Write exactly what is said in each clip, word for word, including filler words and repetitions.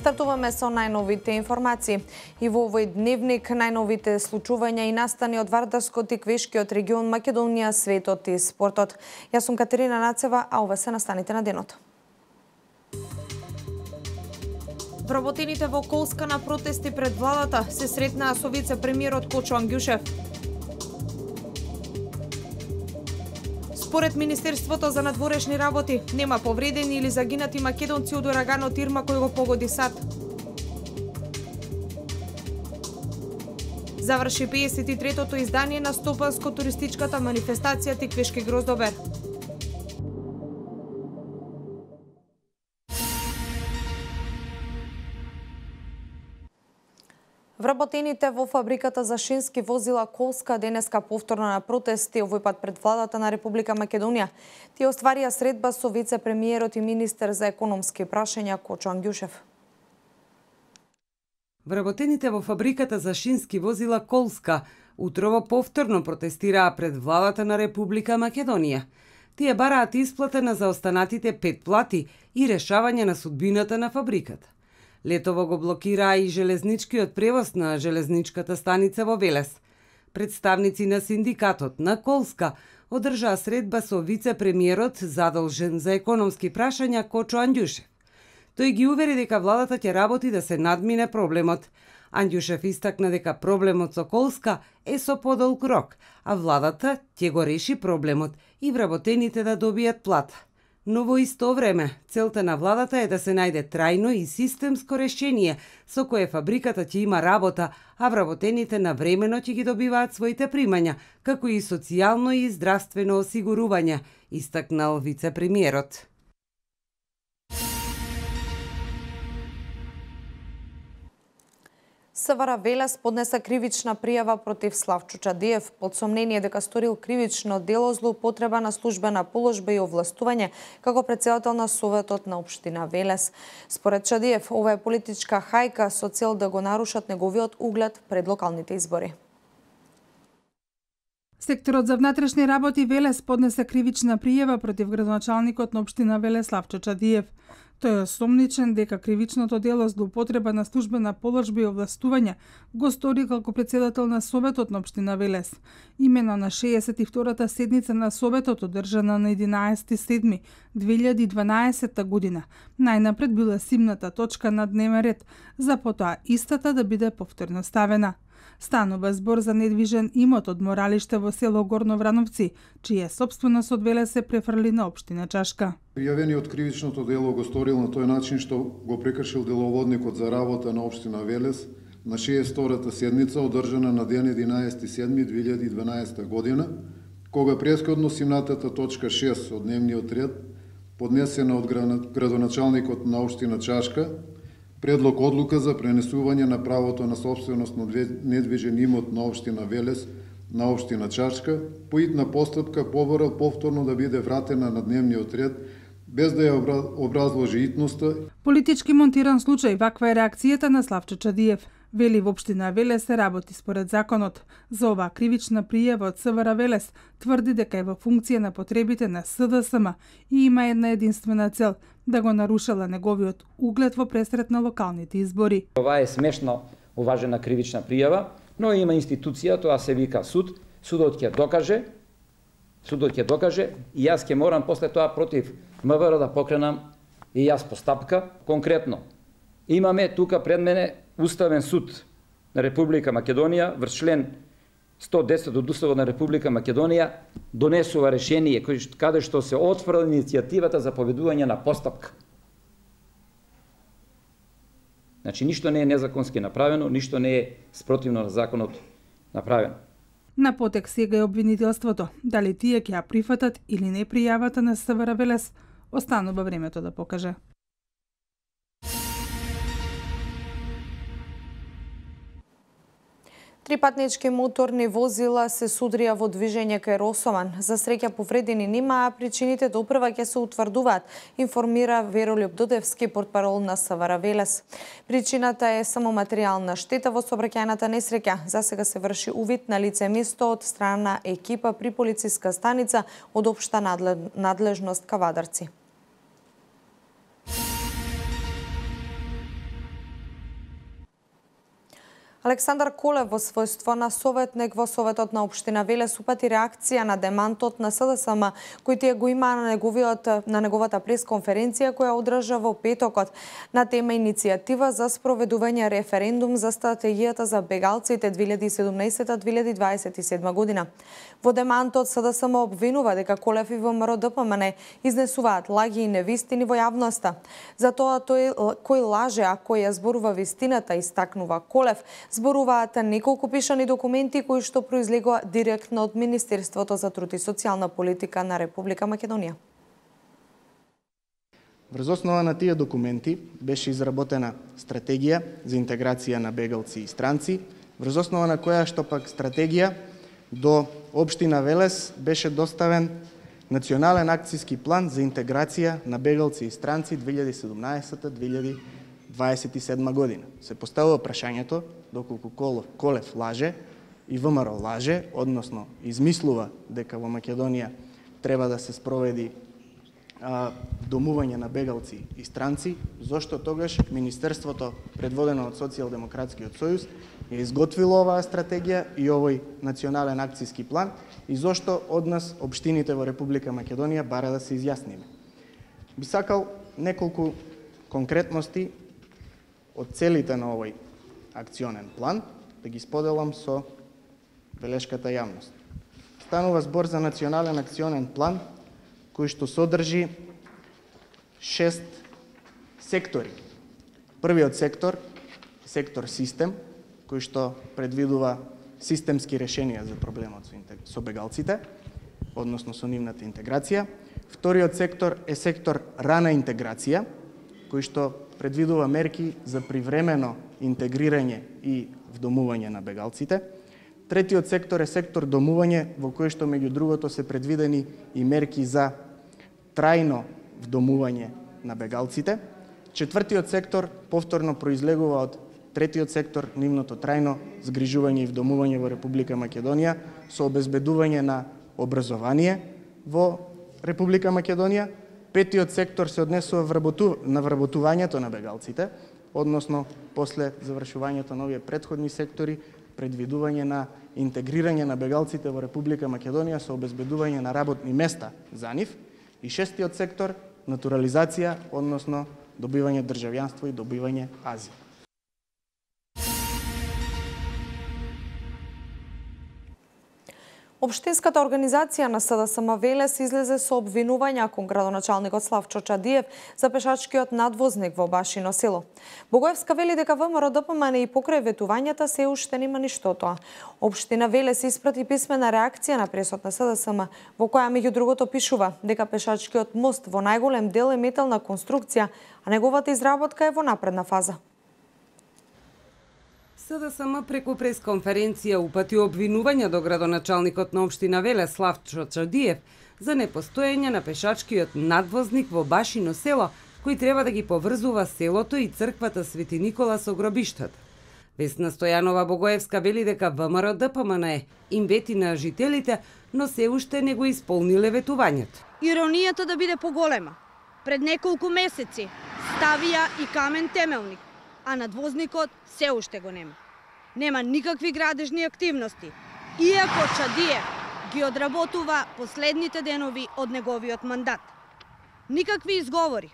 Стартуваме со најновите информации. И во овој дневник најновите случувања и настани од Вардарскот и Квешкиот регион, Македонија, светот и спортот. Јас сум Катерина Нацева, а ова се настаните на денот. Вработените во Колска на протести пред владата се сретнаа со вице-премиерот Кочо Ангјушев. Според Министерството за надворешни работи, нема повредени или загинати македонци од ураганот Ирма кој го погоди САД. Заврши пеесет и третото издание на стопанско-туристичката манифестација Тиквешки гроздобер. Вработените во фабриката за шински возила Колска денеска повторно на протести, овој пат пред владата на Република Македонија. Тие остварија средба со вице-премиерот и министер за економски прашања Кочо Ангјушев. Вработените во фабриката за шински возила Колска утрово повторно протестираа пред владата на Република Македонија. Тие бараат исплата на заостанатите пет плати и решавање на судбината на фабриката. Летово го блокираа и железничкиот превоз на железничката станица во Велес. Представници на синдикатот на Колска одржаа средба со вице-премиерот задолжен за економски прашања Кочо Ангјушев. Тој ги увери дека владата ќе работи да се надмине проблемот. Ангјушев истакна дека проблемот со Колска е со подолг рок, а владата ќе го реши проблемот и вработените да добијат плата. Но во исто време, целта на владата е да се најде трајно и системско решение со кое фабриката ќе има работа, а вработените на времено ќе ги добиваат своите примања, како и социјално и здравствено осигурување, истакнал вице-премиерот. СВР Велес поднесе кривична пријава против Славчо Чадиев под сомнение дека сторил кривично дело злоупотреба на службена положба и овластување како претседател на Советот на општина Велес. Според Чадиев, ова е политичка хајка со цел да го нарушат неговиот углед пред локалните избори. Секторот за внатрешни работи Велес поднесе кривична пријава против градоначалникот на општина Велес Славчо Чадиев. Тој е осомничен дека кривичното дело злоупотреба на службена положба и овластување го стори како претседател на Советот на општина Велес. Имено на шеесет и втората седница на Советот, одржана на единаесети јули две илјади и дванаесетта година, најнапред била симната точка на дневен ред, за потоа истата да биде повторно ставена. Станува збор за недвижен имот од моралиште во село Горно Врановци, чија собственост од Велес се префрли на општина Чашка. Пријавениот кривичното дело го сторил на тој начин што го прекршил деловодникот за работа на општина Велес на шеесет и втората седница, одржана на ден единаесети јули две илјади и дванаесетта година, кога претходно симнатата точка шест од дневниот ред, поднесена од градоначалникот на општина Чашка, предлог одлука за пренесување на правото на собственост на недвижен имот на општина Велес на општина Чашка, по итна постапка поборал повторно да биде вратена на дневниот ред, без да ја образложи итноста. Политички монтиран случај, ваква е реакцијата на Славчо Чадиев. Вели во општина Велес се работи според законот. За оваа кривична пријава од СВР Велес тврди дека е во функција на потребите на СДСМ и има една единствена цел – да го нарушала неговиот углед во пресрет на локалните избори. Ова е смешно уважена кривична пријава, но има институција, тоа се вика суд, судот ќе докаже, судот ќе докаже и јас ќе морам после тоа против МВР да покренам и јас постапка. Конкретно, имаме тука пред мене Уставен суд на Република Македонија, врз член сто десет од Уставот на Република Македонија донесува решение каде што се отфрли иницијативата за поведување на постапка. Значи, ништо не е незаконски направено, ништо не е спротивно на законот направено. На потек сега е обвинителството. Дали тие ќе ја прифатат или не пријавата на СВР Велес, останува времето да покаже. Три патнички моторни возила се судрија во движење кај Росоман. За среќа повредени нема, а причините допрва ќе се утврдуваат, информира Веролјуп Додевски, портпарол на СВР Велес. Причината е само материјална штета во сообраќајната несреќа. За сега се врши увид на лице место од страна екипа при полициска станица од општа надлежност Кавадарци. Александар Колев во својство на советник во Советот на општина Велес упати реакција на демантот на СДСМ, кој тие го има на неговиот на неговата пресконференција која одржа во петокот на тема иницијатива за спроведување референдум за стратегијата за бегалците две илјади и седумнаесета - две илјади дваесет и седма година. Во демантот СДСМ обвинува дека Колев и ВМРО Д П М Н изнесуваат лаги и невистини во јавноста. Затоа тој кој лаже, а кој ја зборува вистината, истакнува Колев, зборуваат неколку пишани документи кои што произлегува директно од Министерството за труд и социјална политика на Република Македонија. Врз основа на тие документи беше изработена стратегија за интеграција на бегалци и странци, врз основа на која што пак стратегија до општина Велес беше доставен Национален акцијски план за интеграција на бегалци и странци две илјади и седумнаесета - две илјади дваесет и седма година. Се поставува прашањето доколку Колев лаже и ВМРО лаже, односно измислува дека во Македонија треба да се спроведи а, домување на бегалци и странци, зошто тогаш Министерството, предводено од Социјалдемократскиот сојуз, ја изготвило оваа стратегија и овој национален акцијски план и зошто од нас општините во Република Македонија бара да се изјасниме. Би сакал неколку конкретности од целите на овој акционен план да ги споделам со белешката јавност. Станува збор за национален акционен план кој што содржи шест сектори. Првиот сектор, сектор систем, кој што предвидува системски решенија за проблемот со бегалците, односно со нивната интеграција. Вториот сектор е сектор рана интеграција, кој што предвидува мерки за привремено интегрирање и вдомување на бегалците. Третиот сектор е сектор домување, во кој што меѓу другото се предвидени и мерки за трајно вдомување на бегалците. Четвртиот сектор повторно произлегува од третиот сектор, нивното трајно згрижување и вдомување во Република Македонија со обезбедување на образование во Република Македонија. Петиот сектор се однесува на вработувањето на бегалците, односно после завршувањето на овие претходни сектори, предвидување на интегрирање на бегалците во Република Македонија со обезбедување на работни места за нив. И шестиот сектор натурализација, односно добивање државјанство и добивање азил. Општинската организација на СДСМ Велес излезе со обвинувања кон градоначалникот Славчо Чадиев за пешачкиот надвозник во Башино село. Богоевска вели дека ВМРО Д П М Н и покрај ветувањата се уште нема ништо тоа. Општина Велес испрати писмена реакција на пресот на СДСМ, во која меѓу другото пишува дека пешачкиот мост во најголем дел е метална конструкција, а неговата изработка е во напредна фаза. СДСМ преку пресконференција упати обвинувања до градоначалникот на општина Велес Славчо Чадиев за непостоење на пешачкиот надвозник во Башино село, кој треба да ги поврзува селото и црквата Свети Никола со гробиштата. Весна Стојанова Богоевска вели дека ВМРО Д П М Н им вети на жителите, но се уште не го исполниле ветувањето. Иронијата да биде поголема. Пред неколку месеци ставија и камен темелник, а надвозникот се уште го нема. Нема никакви градежни активности, иако Чадиев ги одработува последните денови од неговиот мандат. Никакви изговори,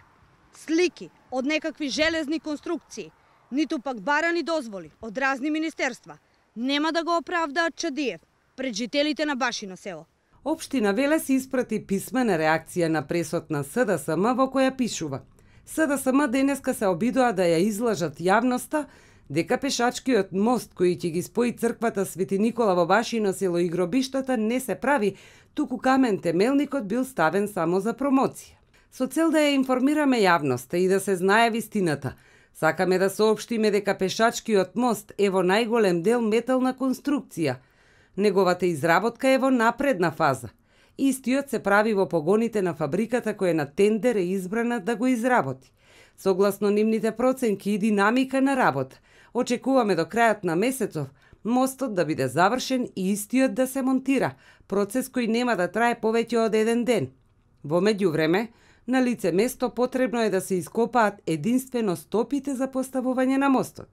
слики од некакви железни конструкции, ниту пак барани дозволи од разни министерства, нема да го оправдаат Чадиев пред жителите на Башино село. Општина Велес испрати писмена реакција на пресот на СДСМ во која пишува: СДСМ денеска се обидоа да ја излажат јавноста дека пешачкиот мост кој ќе ги спои црквата Свети Никола во Башино село и гробиштата не се прави, туку камен темелникот бил ставен само за промоција. Со цел да ја информираме јавноста и да се знае вистината, сакаме да соопштиме дека пешачкиот мост е во најголем дел метална конструкција. Неговата изработка е во напредна фаза. Истиот се прави во погоните на фабриката која на тендер е избрана да го изработи. Согласно нивните проценки и динамика на работа, очекуваме до крајот на месецов мостот да биде завршен и истиот да се монтира, процес кој нема да трае повеќе од еден ден. Во меѓувреме, на лице место потребно е да се ископаат единствено стопите за поставување на мостот.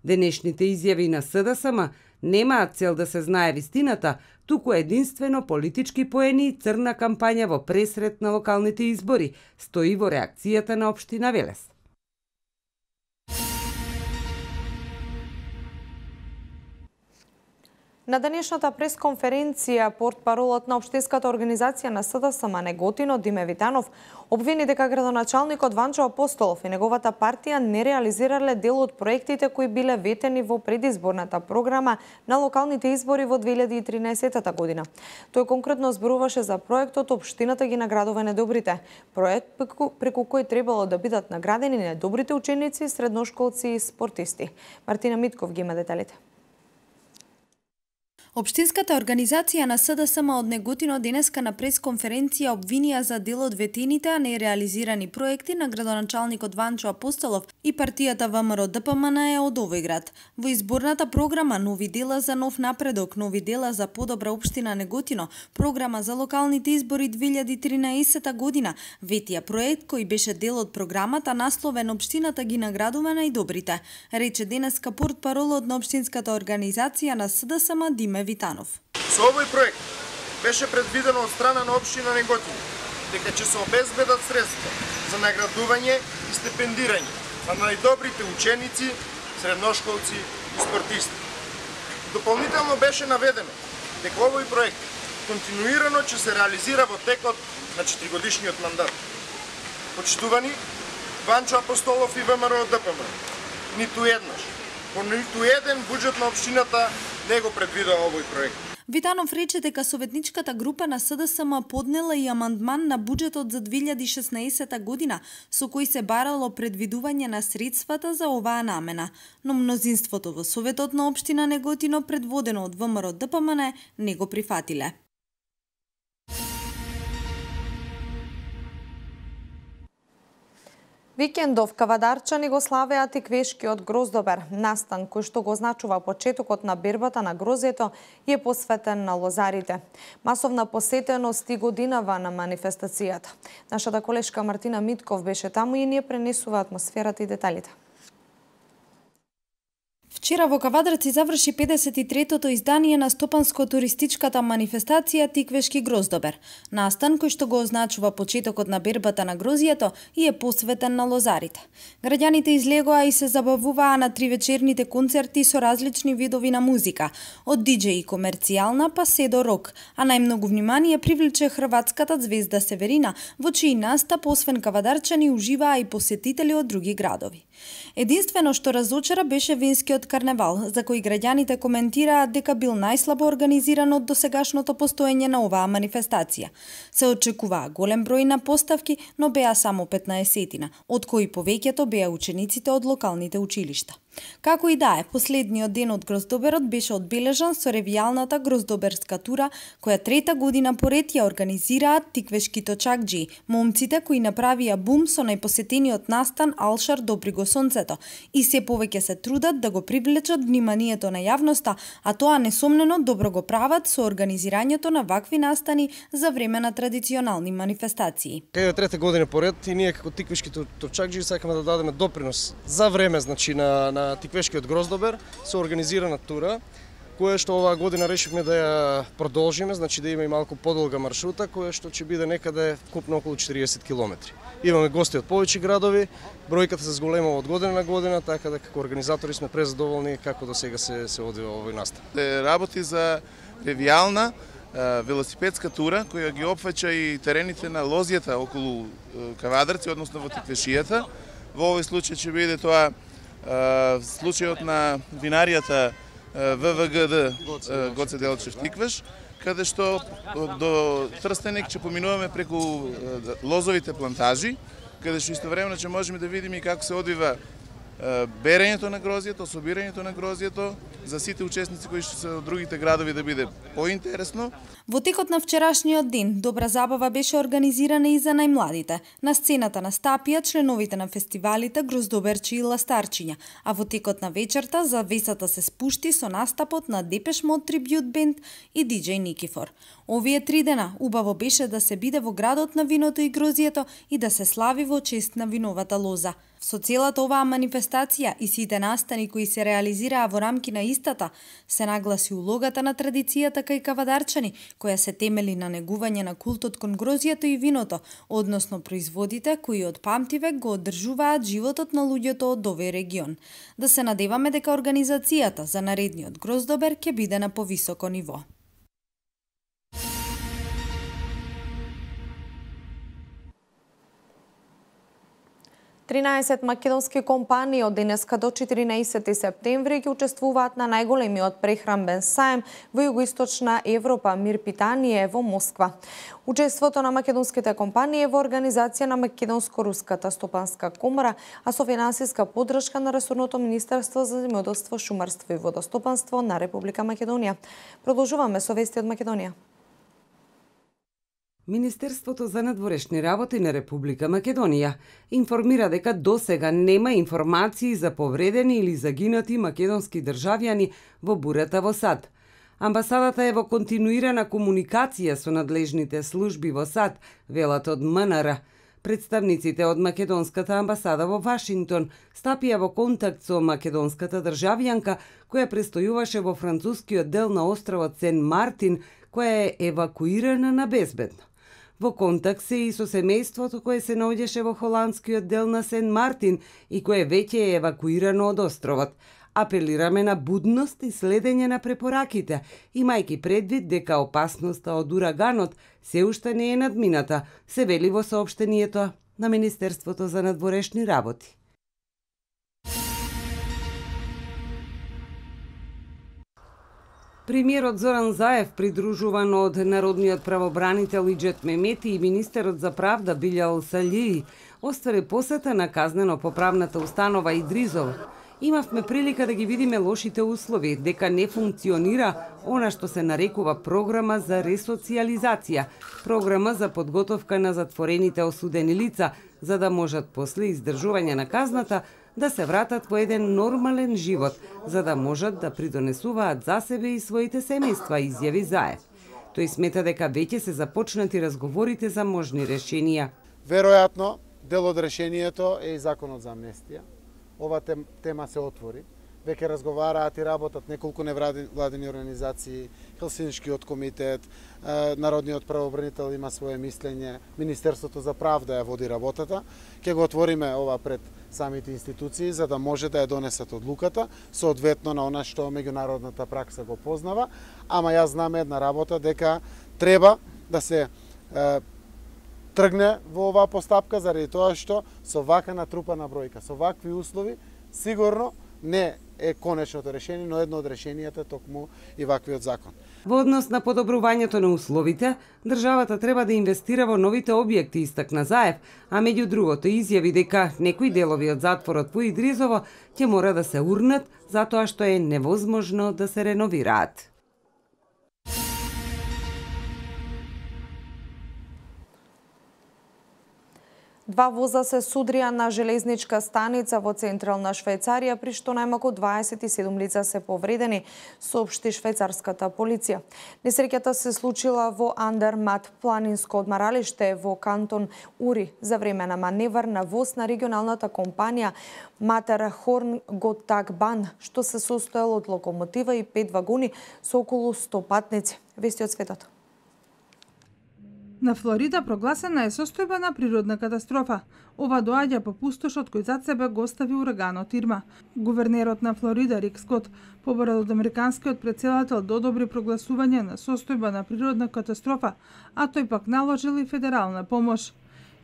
Денешните изјави на СДСМ немаат цел да се знае вистината, туку единствено политички поени и црна кампања во пресрет на локалните избори, стои во реакцијата на општина Велес. На денешната пресконференција, портпаролот на општинската организација на СДСМ Неготино Диме Витанов обвини дека градоначалникот Ванчо Апостолов и неговата партија не реализирале дел од проектите кои биле ветени во предизборната програма на локалните избори во две илјади и тринаесетта година. Тој конкретно зборуваше за проектот Општината ги наградува недобрите, проект преку, преку кој требало да бидат наградени недобрите ученици, средношколци и спортисти. Мартина Митков ги има деталите. Општинската организација на СДСМ од Неготино денеска на пресконференција обвинија за дел од ветените, а не реализирани проекти на градоначалникот Ванчо Апостолов и партијата ВМРО ДПМН е од овој град. Во изборната програма Нови дела за нов напредок, Нови дела за подобра општина Неготино, програма за локалните избори две илјади и тринаесетта година, ветија проект кој беше дел од програмата насловен Општината ги наградува најдобрите, рече денеска портпаролот на општинската организација на СДСМ Диме Витанов. Со овој проект беше предвидено од страна на општина Неготино дека ќе се обезбедат средства за наградување и стипендирање на најдобрите ученици, средношколци и спортисти. Дополнително беше наведено дека овој проект континуирано ќе се реализира во текот на четиригодишниот мандат. Почитувани, Ванчо Апостолов и ВМРО ДПМН ниту еднаш, по ниту еден буџет на општината не го предвидува овој проект. Витанов рече дека советничката група на СДСМ поднела и амандман на буџетот за две илјади и шеснаесетта година, со кој се барало предвидување на средствата за оваа намена, но мнозинството во Советот на општина Неготино, предводено од ВМРО ДПМН, не го прифатиле. Викендов кавадарчани го славеа тиквешкиот гроздобер. Настан кој што го означува почетокот на бербата на грозјето е посветен на лозарите. Масовна посетеност и годинава на манифестацијата. Нашата колешка Мартина Митков беше таму и ние пренесува атмосферата и деталите. Вчера во Кавадарци заврши педесет и третото издание на стопанско-туристичката манифестација Тиквешки гроздобер. Настан кој што го означува почетокот на бербата на грозјето и е посветен на лозарите. Граѓаните излегоа и се забавуваа на тривечерните концерти со различни видови на музика, од диџеи комерцијална па се до рок, а најмногу внимание привлече хрватската звезда Северина, во чиј настап освен кавадарчани уживаа и посетители од други градови. Единствено што разочара беше венскиот карневал, за кој граѓаните коментираат дека бил најслабо организиран од досегашното постоење на оваа манифестација. Се очекуваа голем број на поставки, но беа само петнаесетина, од кои повеќето беа учениците од локалните училишта. Како и да е, последниот ден од гроздоберот беше одбележан со ревијалната гроздоберска тура, која трета година поред ја организираат тиквешки точакџи, момците кои направија бум со најпосетениот настан Алшар Добри го сонцето и се повеќе се трудат да го привлечат вниманието на јавноста, а тоа несомнено добро го прават со организирањето на вакви настани за време на традиционални манифестации. Кај трета година поред и ние како тиквешки точакџи сакаме да дадеме допринос за време, значи на, на Тиквешкиот гроздобер со организирана тура, која што оваа година решивме да ја продолжиме, значи да има и малку подолга маршрута, која што ќе биде некаде вкупно околу четириесет километри. Имаме гости од повеќе градови, бројката се зголемува од година на година, така да како организатори сме презадоволни како до сега се се одвива овој настан. Работи за ревијална велосипедска тура која ги опфаќа и терените на лозјата околу Кавадарци, односно во Тиквешијата. Во овој случај ќе биде тоа случајот на винаријата ВВГД Гоце Делчев Тиквеш, каде што до Трстенек ќе поминуваме преку лозовите плантажи, каде што истовремено ќе можеме да видиме и како се одвива берењето на грозјето, собирањето на грозјето, за сите учесници кои што се од другите градови да биде поинтересно. Во текот на вчерашниот ден, добра забава беше организирана и за најмладите. На сцената настапија членовите на фестивалите Гроздоберчи и Ластарчиња, а во текот на вечерта завесата се спушти со настапот на Депеш Мод Трибјут Бенд и диџеј Никифор. Овие три дена убаво беше да се биде во градот на виното и грозието и да се слави во чест на виновата лоза. Со целата оваа манифестација и сите настани кои се реализираа во рамки на истата, се нагласи улогата на традицијата кај кавадарчани, која се темели на негување на култот кон грозието и виното, односно производите кои од памтивек го одржуваат животот на луѓето од овој регион. Да се надеваме дека организацијата за наредниот Гроздобер ќе биде на повисоко ниво. тринаесет македонски компании од денеска до четиринаесети септември ќе учествуваат на најголемиот прехранбен саем во Југоисточна Европа Мир Питание во Москва. Учеството на македонските компании е во организација на Македонско-руската стопанска комора, а со финансиска поддршка на ресорното Министерство за земјоделство, шумарство и водостопанство на Република Македонија. Продолжуваме со вести од Македонија. Министерството за надворешни работи на Република Македонија информира дека досега нема информации за повредени или загинати македонски државјани во бурата во САД. Амбасадата е во континуирана комуникација со надлежните служби во САД, велат од МНР. Представниците од македонската амбасада во Вашингтон стапија во контакт со македонската државјанка која престојуваше во францускиот дел на островот Сен Мартин, која е евакуирана на безбедно. Во контакт се и со семејството кое се наоѓаше во холандскиот дел на Сен Мартин и кое веќе е евакуирано од островот. Апелираме на будност и следење на препораките, имајќи предвид дека опасноста од ураганот се уште не е надмината, се вели во соопштението на Министерството за надворешни работи. Премиерот Зоран Заев, придружуван од народниот правобранител Иџет Мемети и министерот за правда Билјал Салии, оствари посета на казнено-поправната установа Идризово. Имавме прилика да ги видиме лошите услови, дека не функционира она што се нарекува програма за ресоциализација, програма за подготовка на затворените осудени лица, за да можат после издржување на казната да се вратат во еден нормален живот, за да можат да придонесуваат за себе и своите семејства, изјави Заев. Тој смета дека веќе се започнати разговорите за можни решенија. Веројатно, дел од решението е и законот за амнестија. Ова тема се отвори. Веќе разговараат и работат неколку невладени организации, Хелсиншкиот комитет, Народниот правобранител има свое мислење, Министерството за правда ја води работата. Ќе го отвориме ова пред самите институции за да може да ја донесат одлуката, соодветно на она што меѓународната пракса го познава, ама јас знам една работа дека треба да се е, тргне во оваа постапка заради тоа што со вака натрупана бројка, со вакви услови, сигурно не е конечното решение, но едно од решенијата е токму и ваквиот закон. Во однос на подобрувањето на условите, државата треба да инвестира во новите објекти, истакна Заев, а меѓу другото изјави дека некои делови од затворот во Идризово ќе мора да се урнат затоа што е невозможно да се реновираат. Два воза се судрија на железничка станица во централна Швајцарија, при што најмалку дваесет и седум лица се повредени, соопшти швајцарската полиција. Несреќата се случила во Андермат, планинско одмаралиште во кантон Ури, за време на маневар на воз на регионалната компанија Матерхорн Готагбан, што се состоел од локомотива и пет вагони со околу сто патници. Вести од светот. На Флорида прогласена е состојба на природна катастрофа. Ова доаѓа по пустошот кој зад себе го остави ураганот Ирма. Гувернерот на Флорида Рик Скот побара од американскиот претседател да одобри прогласување на состојба на природна катастрофа, а тој пак наложил и федерална помош.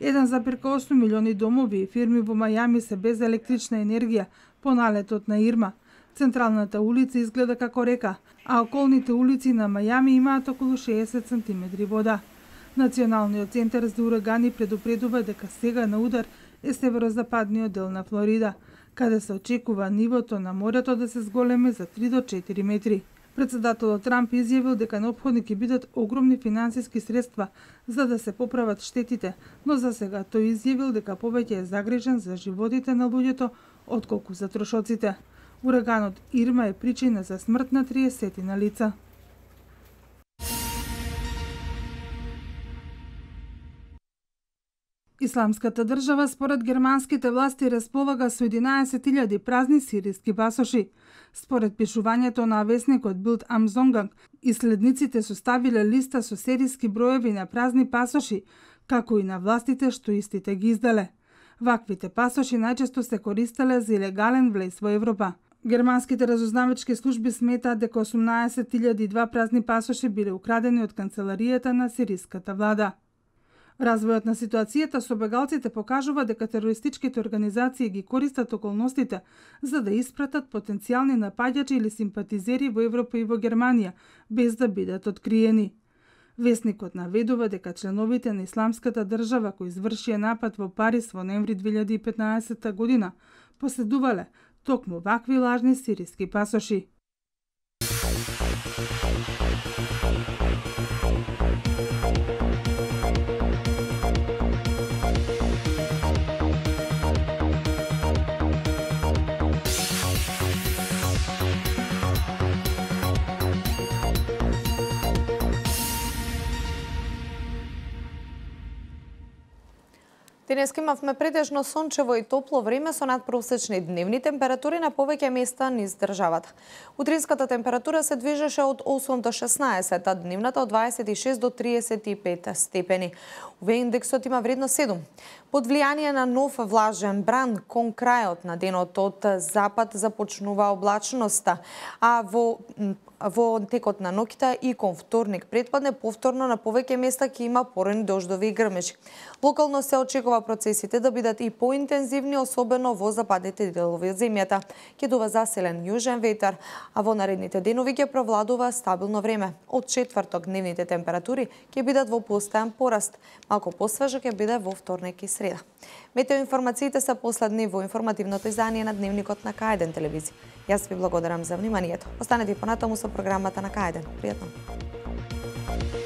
еден зарез осум милиони домови и фирми во Мајами се без електрична енергија по налетот на Ирма. Централната улица изгледа како река, а околните улици на Мајами имаат околу шеесет сантиметри вода. Националниот центар за урагани предупредува дека сега на удар е северозападниот дел на Флорида. каде се очекува нивото на морето да се зголеми за три до четири метри. Председателот Трамп изјавил дека неопходни ќе бидат огромни финансиски средства за да се поправат штетите, но за сега тој изјавил дека повеќе е загрижен за животите на луѓето отколку за трошоците. Ураганот Ирма е причина за смрт на триесетина лица. Исламската држава според германските власти располага со единаесет илјади празни сириски пасоши. Според пишувањето на весникот Билд ам Зонганг, исследниците составиле листа со сериски броеви на празни пасоши, како и на властите што истите ги изделе. Ваквите пасоши најчесто се користеле за илегален влез во Европа. Германските разузнавачки служби сметаат дека осумнаесет илјади и два празни пасоши биле украдени од канцеларијата на сириската влада. Развојот на ситуацијата со бегалците покажува дека терористичките организации ги користат околностите за да испратат потенцијални напаѓачи или симпатизери во Европа и во Германија, без да бидат откриени. Весникот наведува дека членовите на Исламската држава кои извршија напад во Париз во ноември две илјади и петнаесетта година поседувале токму вакви лажни сириски пасоши. Денес имавме претежно сончево и топло време со надпросечни дневни температури на повеќе места низ државата. Утринската температура се движеше од осум до шеснаесет, а дневната од дваесет и шест до триесет и пет степени. Уве индексот има вредност седум. Под влијание на нов влажен бран, кон крајот на денот од запад започнува облачноста, а во во текот на ноќта и кон вторник претпадне повторно на повеќе места ќе има порани дождови и грмежи. Локално се очекува процесите да бидат и поинтензивни, особено во западните делови од земјата. Ќе дува заселен јужен ветар, а во наредните денови ќе провладува стабилно време. Од четврток дневните температури ќе бидат во постојан пораст. Малку посвежа ќе биде во вторник и среда. Метеоинформациите се последни во информативното издание на Дневникот на К еден телевизија. Јас ви благодарам за вниманието. Останете и понатаму со програмата на К еден. Пријатно!